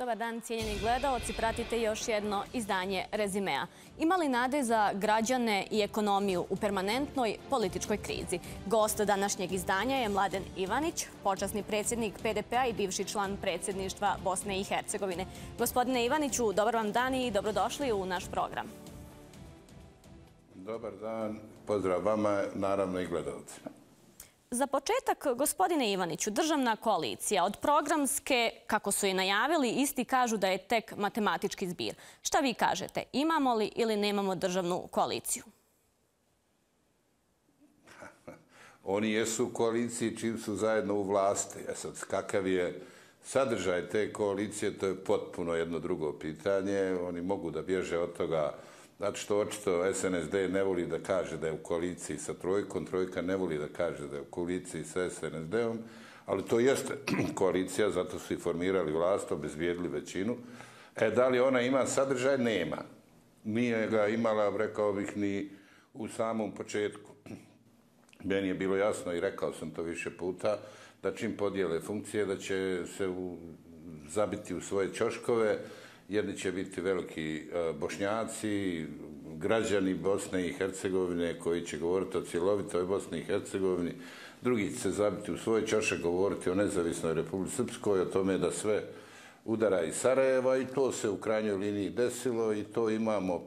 Dobar dan, cijenjeni gledaoci. Pratite još jedno izdanje Rezimea. Ima li nade za građane i ekonomiju u permanentnoj političkoj krizi? Gost današnjeg izdanja je Mladen Ivanić, počasni predsjednik PDP-a i bivši član predsjedništva Bosne i Hercegovine. Gospodine Ivaniću, dobar vam dan i dobrodošli u naš program. Dobar dan, pozdrav vama, naravno i gledalcima. Za početak, gospodine Ivaniću, državna koalicija od programske, kako su je najavili, isti kažu da je tek matematički zbir. Šta vi kažete? Imamo li ili nemamo državnu koaliciju? Oni jesu u koaliciji čim su zajedno u vlasti. Sad, kakav je sadržaj te koalicije, to je potpuno jedno drugo pitanje. Oni mogu da bježe od toga. Znači što očito SNSD ne voli da kaže da je u koaliciji sa Trojkom, Trojka ne voli da kaže da je u koaliciji sa SNSD-om, ali to jeste koalicija, zato su i formirali vlast, obezbijedili većinu. Da li ona ima sadržaj? Nema. Nije ga imala, rekao bih, ni u samom početku. Meni je bilo jasno i rekao sam to više puta, da čim podijele funkcije, da će se zabiti u svoje ćoškove. Jedni će biti veliki Bošnjaci, građani Bosne i Hercegovine koji će govoriti o cjelovitoj Bosni i Hercegovini. Drugi će se zabiti u svoje ćoše, govoriti o nezavisnoj Republici Srpskoj, o tome da sve udara iz Sarajeva i to se u krajnjoj liniji desilo i to imamo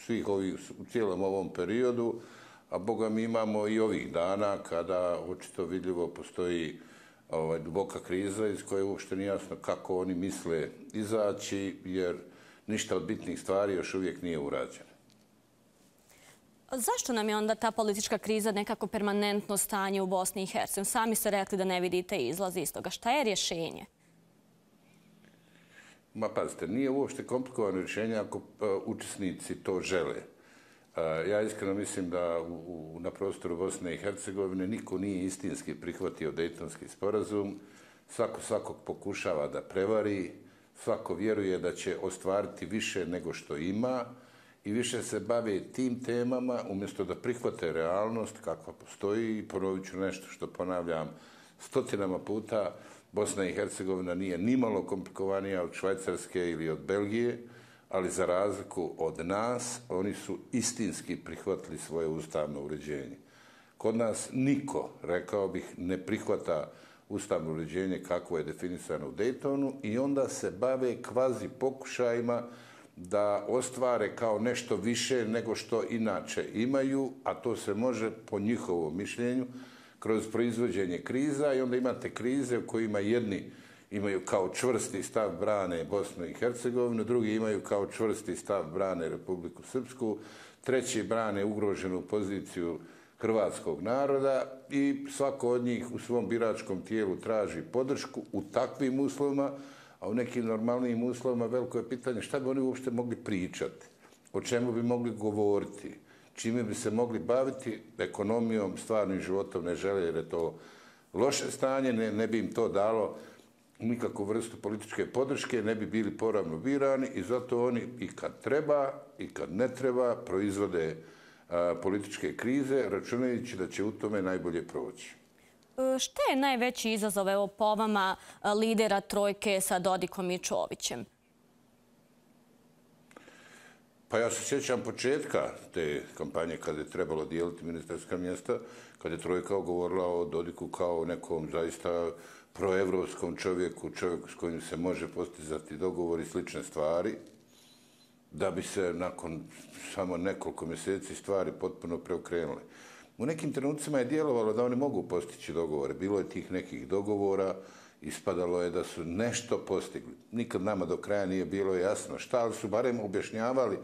svih ovih u cijelom ovom periodu, a boga mi imamo i ovih dana kada očito vidljivo postoji duboka kriza iz koje uopšte nije jasno kako oni misle izaći, jer ništa od bitnih stvari još uvijek nije urađeno. Zašto nam je onda ta politička kriza nekako permanentno stanje u Bosni i Hercegovini? Sami ste rekli da ne vidite izlaz iz toga. Šta je rješenje? Ma pazite, nije uopšte komplikovano rješenje ako učesnici to žele. Ja iskreno mislim da na prostoru Bosne i Hercegovine niko nije istinski prihvatio Dejtonski sporazum. Svako svakog pokušava da prevari, svako vjeruje da će ostvariti više nego što ima i više se bave tim temama umjesto da prihvate realnost kakva postoji. I ponovit ću nešto što ponavljam stotinama puta, Bosna i Hercegovina nije nimalo komplikovanija od Švajcarske ili od Belgije, ali za razliku od nas, oni su istinski prihvatili svoje ustavno uređenje. Kod nas niko, rekao bih, ne prihvata ustavno uređenje kako je definisano u Dejtonu i onda se bave kvazi pokušajima da ostvare kao nešto više nego što inače imaju, a to se može, po njihovom mišljenju, kroz proizvođenje kriza i onda imate krize u kojima jedni imaju kao čvrsti stav brane Bosnu i Hercegovinu, drugi imaju kao čvrsti stav brane Republiku Srpsku, treći brane ugroženu poziciju hrvatskog naroda i svako od njih u svom biračkom tijelu traži podršku u takvim uslovima, a u nekim normalnim uslovima veliko je pitanje šta bi oni uopšte mogli pričati, o čemu bi mogli govoriti, čime bi se mogli baviti, ekonomijom, stvarnim životom ne žele jer je to loše stanje, ne bi im to dalo nikakvu vrstu političke podrške, ne bi bili poravno birani i zato oni i kad treba i kad ne treba proizvode političke krize, računajući da će u tome najbolje proći. Šta je najveći izazov, evo, po vama, lidera Trojke sa Dodikom i Čovićem? Pa ja se sjećam početka te kampanje kada je trebalo dijeliti ministarska mjesta, kada je Trojka govorila o Dodiku kao nekom zaista proevropskom čovjeku s kojim se može postizati dogovor i slične stvari, da bi se nakon samo nekoliko mjeseci stvari potpuno preokrenule. U nekim trenucima je djelovalo da oni mogu postići dogovore. Bilo je tih nekih dogovora, ispadalo je da su nešto postigli. Nikad nama do kraja nije bilo jasno šta, ali su barem objašnjavali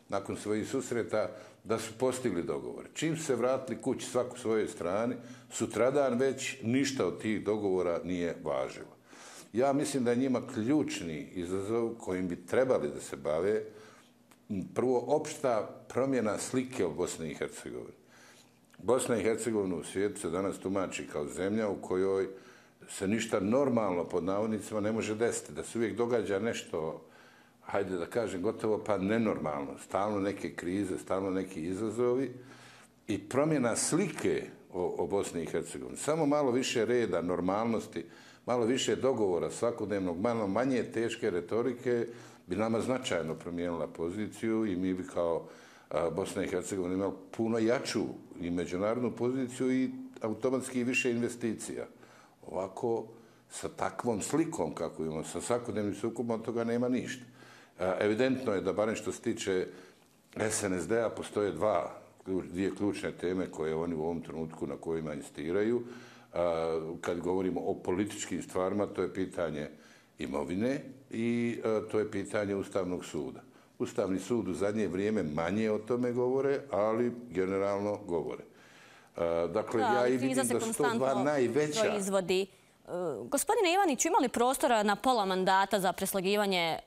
nakon svojih susreta da su postigli dogovor. Čim se vratili kući svako svojoj strani, sutradan već ništa od tih dogovora nije važilo. Ja mislim da je njima ključni izazov kojim bi trebali da se bave prvo opšta promjena slike o Bosni i Hercegovini. Bosna i Hercegovina u svijetu se danas tumači kao zemlja u kojoj se ništa normalno pod navodnicima ne može desiti, da se uvijek događa nešto, hajde da kažem, gotovo pa nenormalno. Stalno neke krize, stalno neki izazovi i promjena slike o Bosni i Hercegovini. Samo malo više reda, normalnosti, malo više dogovora svakodnevnog, malo manje teške retorike bi nama značajno promijenila poziciju i mi bi kao Bosna i Hercegovina imali puno jaču i međunarodnu poziciju i automatski više investicija. Ovako, sa takvom slikom kako imamo, sa svakodnevnim sukobom, od toga nema ništa. Evidentno je da, barem što se tiče SNSD-a, postoje dvije ključne teme koje oni u ovom trenutku na kojima insistiraju. Kad govorimo o političkim stvarima, to je pitanje imovine i to je pitanje Ustavnog suda. Ustavni sud u zadnje vrijeme manje o tome govore, ali generalno govore. Dakle, ja i vidim da su to dva najveća... Gospodine Ivaniću, ima li prostora na pola mandata za preslagivanje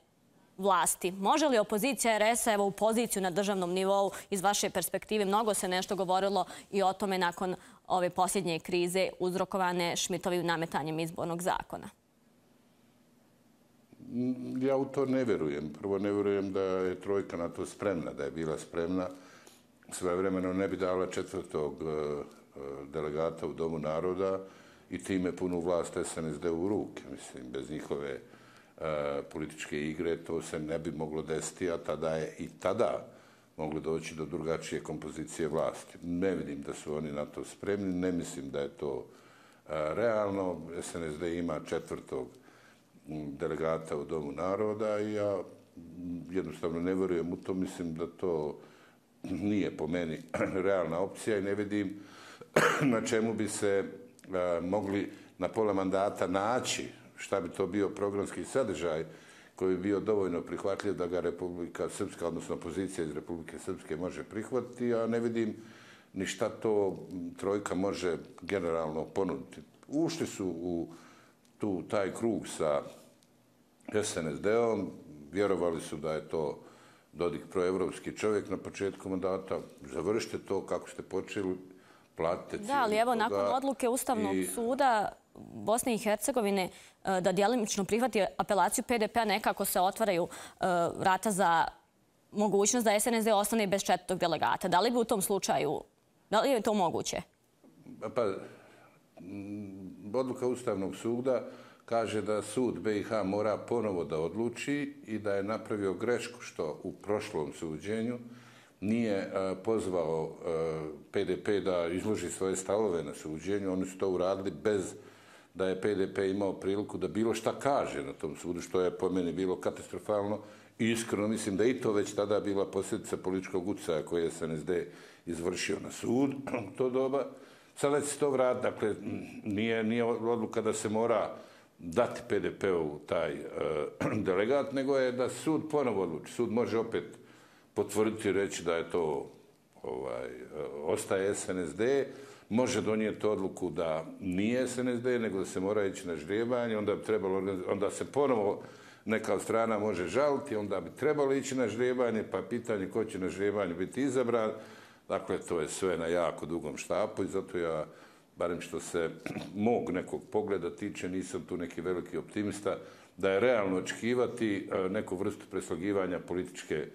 vlasti? Može li opozicija RS-a u poziciju na državnom nivou iz vaše perspektive? Mnogo se nešto govorilo i o tome nakon ove posljednje krize uzrokovane Šmitovim nametanjem izbornog zakona. Ja u to ne vjerujem. Prvo, ne vjerujem da je trojka na to spremna, da je bila spremna. Svojevremeno ne bi dala 4. delegata u Domu naroda i time punu vlast SNSD u ruke. Mislim, bez njihove političke igre to se ne bi moglo desiti, a tada je i tada moglo doći do drugačije kompozicije vlasti. Ne vidim da su oni na to spremni, ne mislim da je to realno. SNSD ima 4. delegata u Domu naroda i ja jednostavno ne vjerujem u to. Mislim da to nije po meni realna opcija i ne vidim na čemu bi se mogli na pola mandata naći, šta bi to bio programski sadržaj koji bi bio dovoljno prihvatljiv da ga Republika Srpska, odnosno opozicija iz Republike Srpske može prihvatiti, a ne vidim ni šta to trojka može generalno ponuditi. Ušli su u taj krug sa SNSD-om, vjerovali su da je to Dodik proevropski čovjek na početku mandata. Završite to kako ste počeli, platite cijelu. Da, ali evo nakon odluke Ustavnog suda Bosne i Hercegovine da djelimično prihvati apelaciju PDP-a, nekako se otvaraju vrata za mogućnost da SNSD ostane bez 4. delegata. Da li bi u tom slučaju, da li je to moguće? Pa, odluka Ustavnog suda kaže da sud BiH mora ponovo da odluči i da je napravio grešku što u prošlom suđenju nije pozvao PDP da izloži svoje stavove na suđenju. Oni su to uradili bez da je PDP imao priliku da bilo šta kaže na tom sudu, što je po meni bilo katastrofalno. I iskreno mislim da i to već tada bila posljedica političkog utjecaja koje je SNSD izvršio na sud u to doba. Sada će se to vratiti. Dakle, nije odluka da se mora dati PDP-u taj delegat, nego je da sud ponovo odluči. Sud može opet potvrditi i reći da je to ostaje SNSD, može donijeti odluku da nije SNSD, nego da se mora ići na ždrijebanje, onda se ponovo neka od strana može žaliti, onda bi trebalo ići na ždrijebanje, pa pitanje ko će na ždrijebanju biti izabran. Dakle, to je sve na jako dugom štapu i zato ja, barem što se mog nekog pogleda tiče, nisam tu neki veliki optimista, da je realno očekivati neku vrstu preslagivanja političke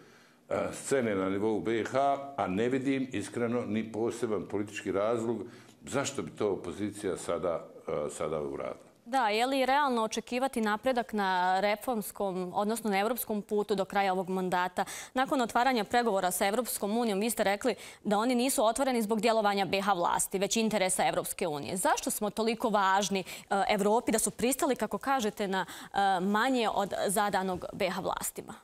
scene na nivou BiH, a ne vidim iskreno ni poseban politički razlog zašto bi to opozicija sada uradila. Da, je li realno očekivati napredak na reformskom, odnosno na evropskom putu do kraja ovog mandata? Nakon otvaranja pregovora sa Evropskom unijom, vi ste rekli da oni nisu otvoreni zbog djelovanja BiH vlasti, već interesa Evropske unije. Zašto smo toliko važni Evropi da su pristali, kako kažete, na manje od zadanog BiH vlastima?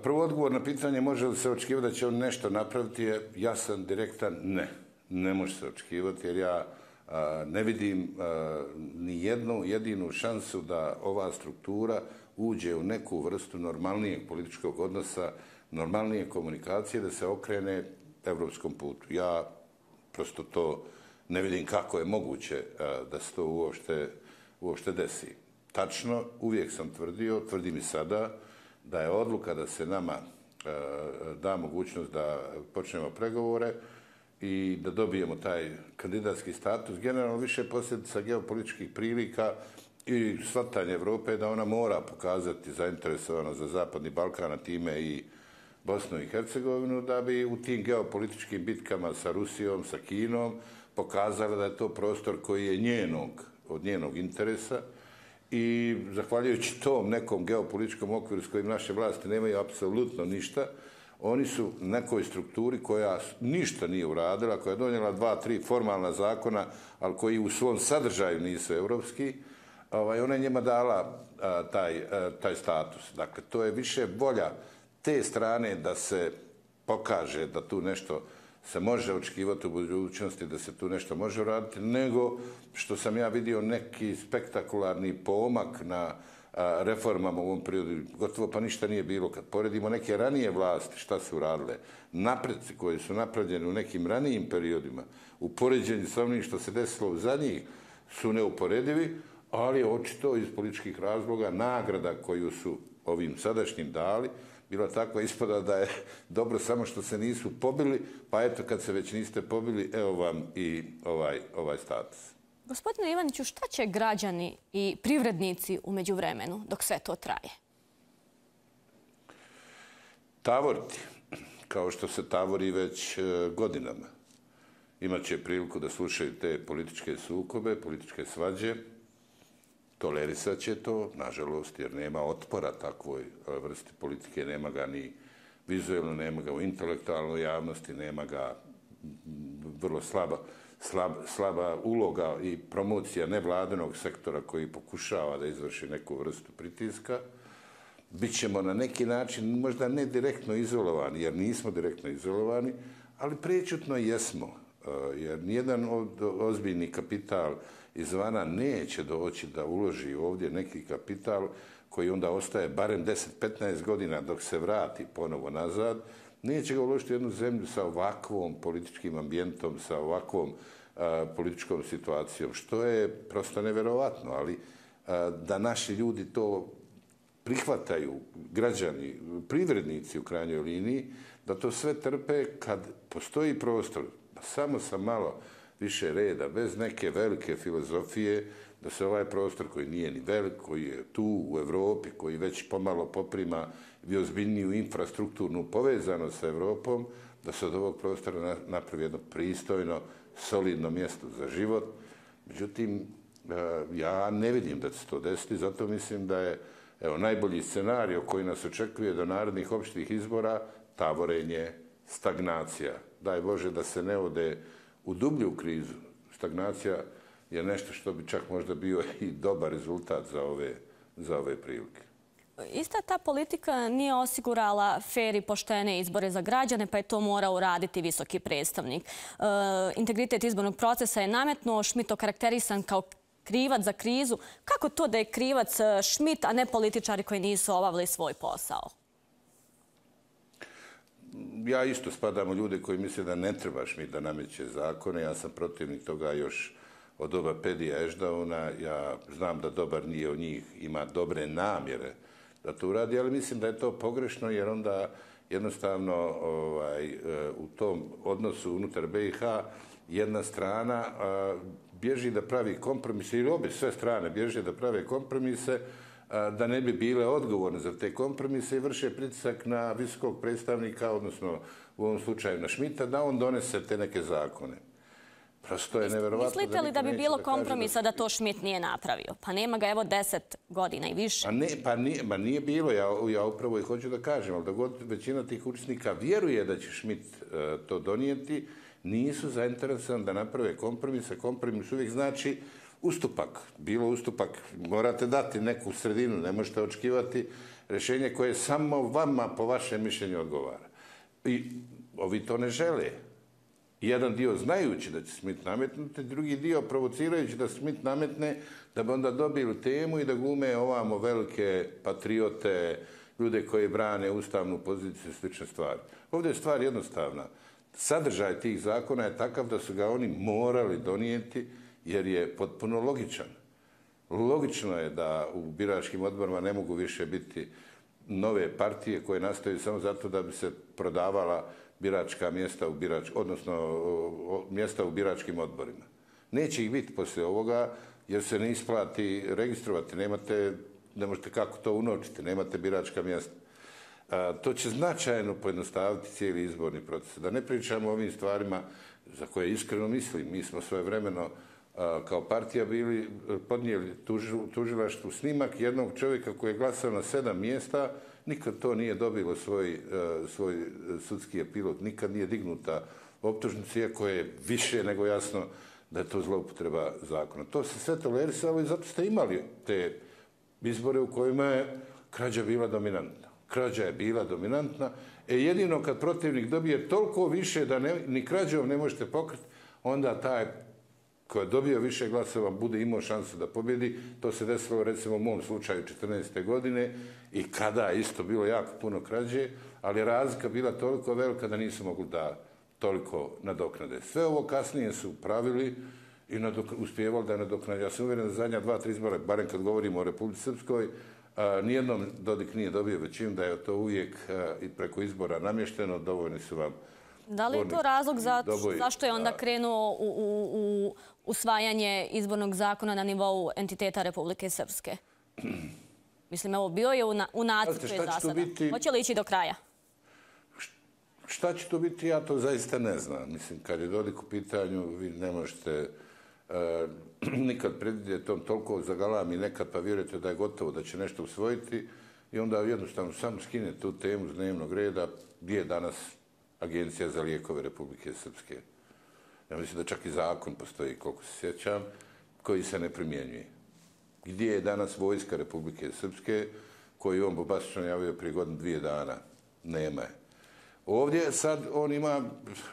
Prvo odgovor na pitanje može li se očekivati da će on nešto napraviti je jasan, direktan, ne. Ne može se očekivati jer ja ne vidim ni jednu jedinu šansu da ova struktura uđe u neku vrstu normalnijeg političkog odnosa, normalnije komunikacije, da se okrene evropskom putu. Ja prosto to ne vidim kako je moguće da se to uopšte desi. Tačno, uvijek sam tvrdio, tvrdim i sada, da je odluka da se nama da mogućnost da počnemo pregovore i da dobijemo taj kandidatski status, generalno više posljedica geopolitičkih prilika i shvatanje Evrope da ona mora pokazati zainteresovanost za Zapadni Balkan, a time i Bosnu i Hercegovinu, da bi u tim geopolitičkim bitkama sa Rusijom, sa Kinom, pokazala da je to prostor koji je od njenog interesa i zahvaljujući tom nekom geopolitičkom okviru s kojim naše vlasti nemaju apsolutno ništa, oni su nekoj strukturi koja ništa nije uradila, koja je donijela 2-3 formalna zakona, ali koji u svom sadržaju nisu europski, ona je njima dala taj status. Dakle, to je više volja te strane da se pokaže da tu nešto se može očekivati u budućnosti, da se tu nešto može uraditi, nego što sam ja vidio neki spektakularni pomak na reformama u ovom periodu. Gotovo pa ništa nije bilo. Kad poredimo neke ranije vlasti, šta su uradile, napreci koji su napravljeni u nekim ranijim periodima, u poređenju sa onim što se desilo u zadnjih, su neuporedivi, ali očito iz političkih razloga nagrada koju su ovim sadašnjim dali bila takva ispada da je dobro samo što se nisu pobili, pa eto kad se već niste pobili, evo vam i ovaj status. Gospodine Ivaniću, šta će građani i privrednici u međuvremenu dok sve to traje? Tavoriti, kao što se tavori već godinama. Imaće priliku da slušaju te političke sukobe, političke svađe, tolerisat će to, nažalost, jer nema otpora takvoj vrsti politike, nema ga ni vizualno, nema ga u intelektualnoj javnosti, nema ga vrlo slaba uloga i promocija nevladinog sektora koji pokušava da izvrši neku vrstu pritiska. Bićemo na neki način možda ne direktno izolovani, jer nismo direktno izolovani, ali prečutno jesmo, jer nijedan ozbiljni kapital izvana neće doći da uloži ovdje neki kapital koji onda ostaje barem 10-15 godina dok se vrati ponovo nazad. Neće ga uložiti u jednu zemlju sa ovakvom političkim ambijentom, sa ovakvom političkom situacijom, što je prosto neverovatno, ali da naši ljudi to prihvataju, građani, privrednici u krajnjoj liniji, da to sve trpe kad postoji prostor, samo sa malo više reda, bez neke velike filozofije, da se ovaj prostor koji nije ni velik, koji je tu u Europi, koji već pomalo poprima i ozbiljniju infrastrukturnu povezanost sa Europom, da se od ovog prostora napravi jedno pristojno, solidno mjesto za život. Međutim, ja ne vidim da će se to desiti, zato mislim da je najbolji scenario koji nas očekuje do narednih opštih izbora tavorenje, stagnacija. Daj Bože da se ne ode u dublju krizu. Stagnacija je nešto što bi čak možda bio i dobar rezultat za ove prilike. Ista ta politika nije osigurala fer i poštene izbore za građane, pa je to morao uraditi visoki predstavnik. Integritet izbornog procesa je nametnuo, Schmidt okarakterisan kao krivac za krizu. Kako to da je krivac Schmidt, a ne političari koji nisu obavili svoj posao? Ja isto spadam u ljude koji misle da ne treba Schmidt da nameće zakone. Ja sam protivnik toga još od doba Pedija Ešdauna. Ja znam da dobar dio njih ima dobre namjere da to uradi, ali mislim da je to pogrešno jer onda jednostavno u tom odnosu unutar BiH jedna strana bježi da pravi kompromise, ili obje sve strane bježe da prave kompromise, da ne bi bile odgovorne za te kompromise i vrše pritisak na visokog predstavnika, odnosno u ovom slučaju na Schmidta, da on donese te neke zakone. Prosto je neverovatno. Mislite li da bi bilo kompromisa da to Schmidt nije napravio? Pa nema ga evo 10 godina i više. Pa nije bilo, ja upravo i hoću da kažem, ali da god većina tih učesnika vjeruje da će Schmidt to donijeti, nisu zainteresovani da naprave kompromise. Kompromis uvijek znači ustupak. Bilo ustupak, morate dati neku sredinu, ne možete očekivati rješenje koje samo vama po vašem mišljenju odgovara. I ovi to ne žele. Jedan dio znajući da će Schmidt nametnuti, drugi dio provocirajući da Schmidt nametne, da bi onda dobili temu i da glume ovamo velike patriote, ljude koji brane ustavnu poziciju i slične stvari. Ovdje je stvar jednostavna. Sadržaj tih zakona je takav da su ga oni morali donijeti jer je potpuno logičan. Logično je da u biračkim odborima ne mogu više biti nove partije koje nastaju samo zato da bi se prodavala biračka mjesta odnosno mjesta u biračkim odborima. Neće ih biti poslije ovoga jer se ne isplati registrovati, ne možete kako to unovčiti, nemate biračka mjesta. To će značajno pojednostaviti cijeli izborni proces. Da ne pričamo o ovim stvarima za koje iskreno mislim. Mi smo svojevremeno kao partija bili podnijeli tužilaštvu snimak jednog čovjeka koji je glasao na 7 mjesta, nikad to nije dobilo svoj sudski epilog, nikad nije dignuta optužnica, iako je više nego jasno da je to zloupotreba zakona. To se sve tolerisalo i zato ste imali te izbore u kojima je krađa bila dominantna. Krađa je bila dominantna, jedino kad protivnik dobije toliko više da ni krađom ne možete pokriti, onda taj koji je dobio više glasova bude imao šansu da pobjedi. To se desilo recimo u mom slučaju 14. godine i kada je isto bilo jako puno krađe, ali je razlika bila toliko velika da nisu mogli da toliko nadoknade. Sve ovo kasnije su pravili i uspjevali da nadoknade. Ja sam uvjeren da zadnja 2-3 izbora, barem kad govorimo o Republici Srpskoj, nijednom Dodik nije dobio većinu, da je to uvijek i preko izbora namješteno, dovoljni su vam. Da li je to razlog zašto je onda krenuo u usvajanje izbornog zakona na nivou entiteta Republike Srpske? Mislim, evo, bio je u nacrtu je za sada. Hoće li ići do kraja? Šta će to biti, ja to zaista ne znam. Mislim, kad je Dodik u pitanju, vi ne možete nikad predvidjeti, on toliko zagalami nekad pa vjerujete da je gotovo, da će nešto usvojiti i onda jednostavno samo skine tu temu s dnevnog reda gdje je danas Agencija za lijekove Republike Srpske. Ja mislim da čak i zakon postoji, koliko se sjećam, koji se ne primjenjuje. Gdje je danas vojska Republike Srpske, koju on bombastično javio prije godinu 2 dana? Nema je. Ovdje sad on ima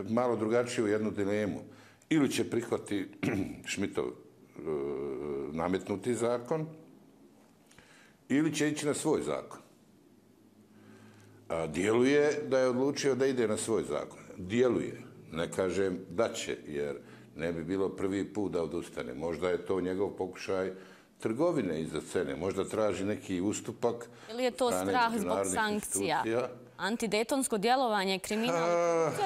malo drugačiju jednu dilemu. Ili će prihvati Šmitov nametnuti zakon, ili će ići na svoj zakon. Djeluje da je odlučio da ide na svoj zakon. Djeluje. Ne kažem da će, jer ne bi bilo prvi put da odustane. Možda je to njegov pokušaj trgovine iza scene. Možda traži neki ustupak. Ili je to strah zbog sankcija? Antidejtonsko djelovanje, kriminal,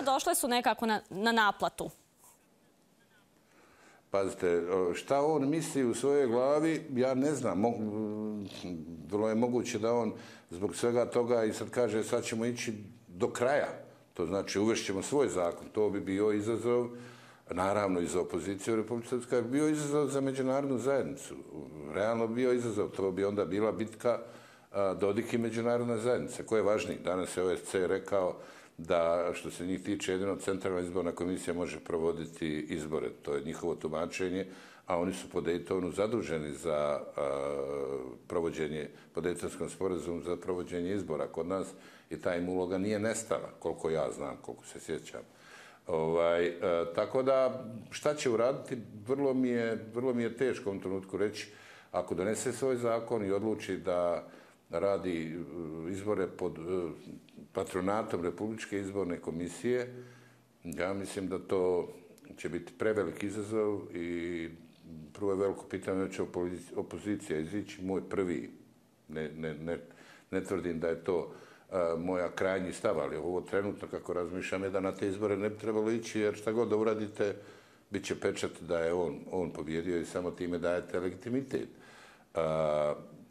došle su nekako na naplatu. Pazite, šta on misli u svojoj glavi, ja ne znam. Vrlo je moguće da on zbog svega toga i sad kaže sad ćemo ići do kraja. To znači uvešćemo svoj zakon. To bi bio izazov, naravno i za opoziciju u Republike Srpskoj, bio izazov za međunarodnu zajednicu. Realno bio izazov. To bi onda bila bitka Dodik i međunarodna zajednica. Ko je važniji? Danas je OSC rekao da što se njih tiče jedino Centralna izborna komisija može provoditi izbore. To je njihovo tumačenje, a oni su po Daytonu zaduženi za provođenje, po Daytonskom sporazumu za provođenje izbora kod nas i ta im uloga nije nestala, koliko ja znam, koliko se sjećam. Tako da, šta će uraditi, vrlo mi je teško u ovom trenutku reći, ako donese svoj zakon i odluči da radi izbore pod patronatom Republičke izborne komisije, ja mislim da to će biti prevelik izazov i prvo je veliko pitanje da će opozicija izići. Moj prvi, ne tvrdim da je to moja krajnji stav, ali ovo trenutno kako razmišljam je da na te izbore ne bi trebalo ići, jer šta god da uradite, bit će pečat da je on pobjedio i samo time dajete legitimitet.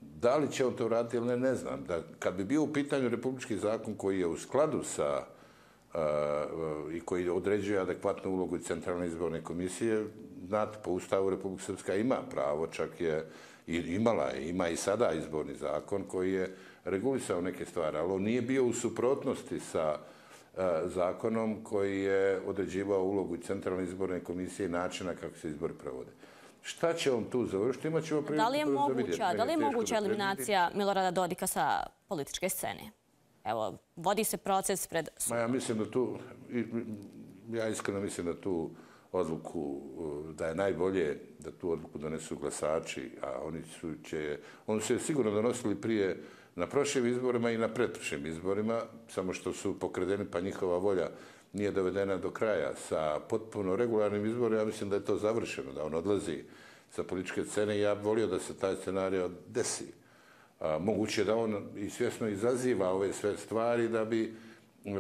Da li će on to uraditi ili ne znam. Kad bi bio u pitanju republički zakon koji je u skladu sa i koji određuje adekvatnu ulogu i Centralne izborne komisije, znate, po Ustavu Republika Srpska ima pravo, čak je ima i sada izborni zakon koji je regulisao neke stvari, ali on nije bio u suprotnosti sa zakonom koji je određivao ulogu i Centralne izborne komisije i načina kako se izbori provode. Šta će on tu završiti? Da li je moguća eliminacija Milorada Dodika sa političke scene? Evo, vodi se proces pred sudom. Ja iskreno mislim da tu odluku, da je najbolje da tu odluku donesu glasači, a oni su je sigurno donosili prije na prošlim izborima i na pretprošlim izborima, samo što su pokradeni pa njihova volja nije dovedena do kraja. Sa potpuno regularnim izborima, ja mislim da je to završeno, da on odlazi sa političke scene i ja bih volio da se taj scenarij desi. Moguće da on i svjesno izaziva ove sve stvari da bi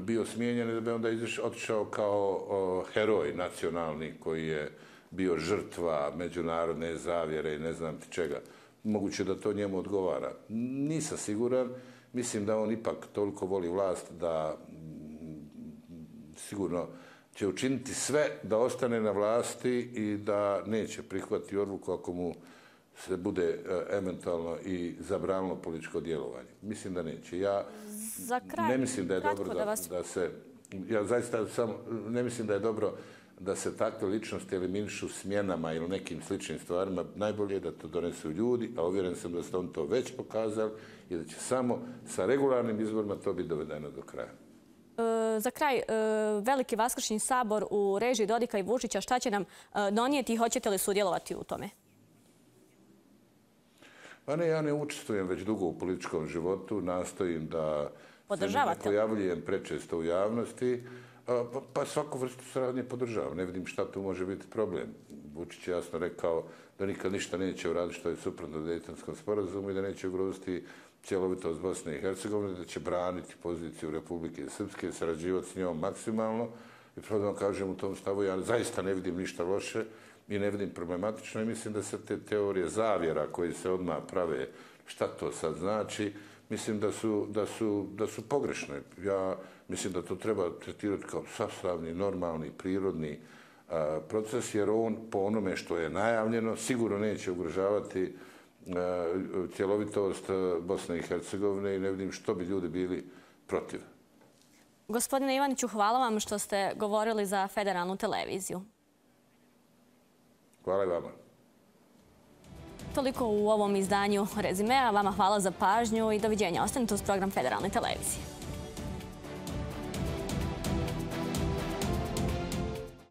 bio smijenjen i da bi onda otišao kao heroj nacionalni koji je bio žrtva međunarodne zavjere i ne znam ti čega. Moguće da to njemu odgovara. Nisam siguran mislim da on ipak toliko voli vlast da sigurno će učiniti sve da ostane na vlasti i da neće prihvatiti odluku ako mu se bude eventualno i zabranilo političko djelovanje. Mislim da neće. Ja ne mislim da je dobro da se... Ja zaista ne mislim da je dobro da se takve ličnosti eliminišu smjenama ili nekim sličnim stvarima. Najbolje je da to donesu ljudi, a uvjeren sam da ste on to već pokazali i da će samo sa regularnim izborima to biti dovedeno do kraja. Za kraj, Veliki vaskršnji sabor u režiji Dodika i Vučića, šta će nam donijeti i hoćete li sudjelovati u tome? Pa ne, ja ne učestvujem već dugo u političkom životu, nastojim da se ne pojavljujem prečesto u javnosti, pa svaku vrstu saradnje podržavam. Ne vidim šta tu može biti problem. Vučić je jasno rekao da nikad ništa neće uraditi što je suprotno Dejtonskom sporazumu i da neće ugroziti cjelovitost Bosne i Hercegovine, da će braniti poziciju Republike Srpske, sarađivati s njom maksimalno. I prvo da vam kažem u tom stavu, ja zaista ne vidim ništa loše i ne vidim problematično i mislim da se te teorije zavjera koje se odmah prave, šta to sad znači, mislim da su pogrešne. Ja mislim da to treba tretirati kao sastavni, normalni, prirodni proces, jer on po onome što je najavljeno sigurno neće ugrožavati cjelovitost Bosne i Hercegovine i ne vidim što bi ljudi bili protiv. Gospodine Ivaniću, hvala vam što ste govorili za Federalnu televiziju. Hvala i vama. Toliko u ovom izdanju Rezimea. Vama hvala za pažnju i doviđenja. Ostanite uz program Federalne televizije.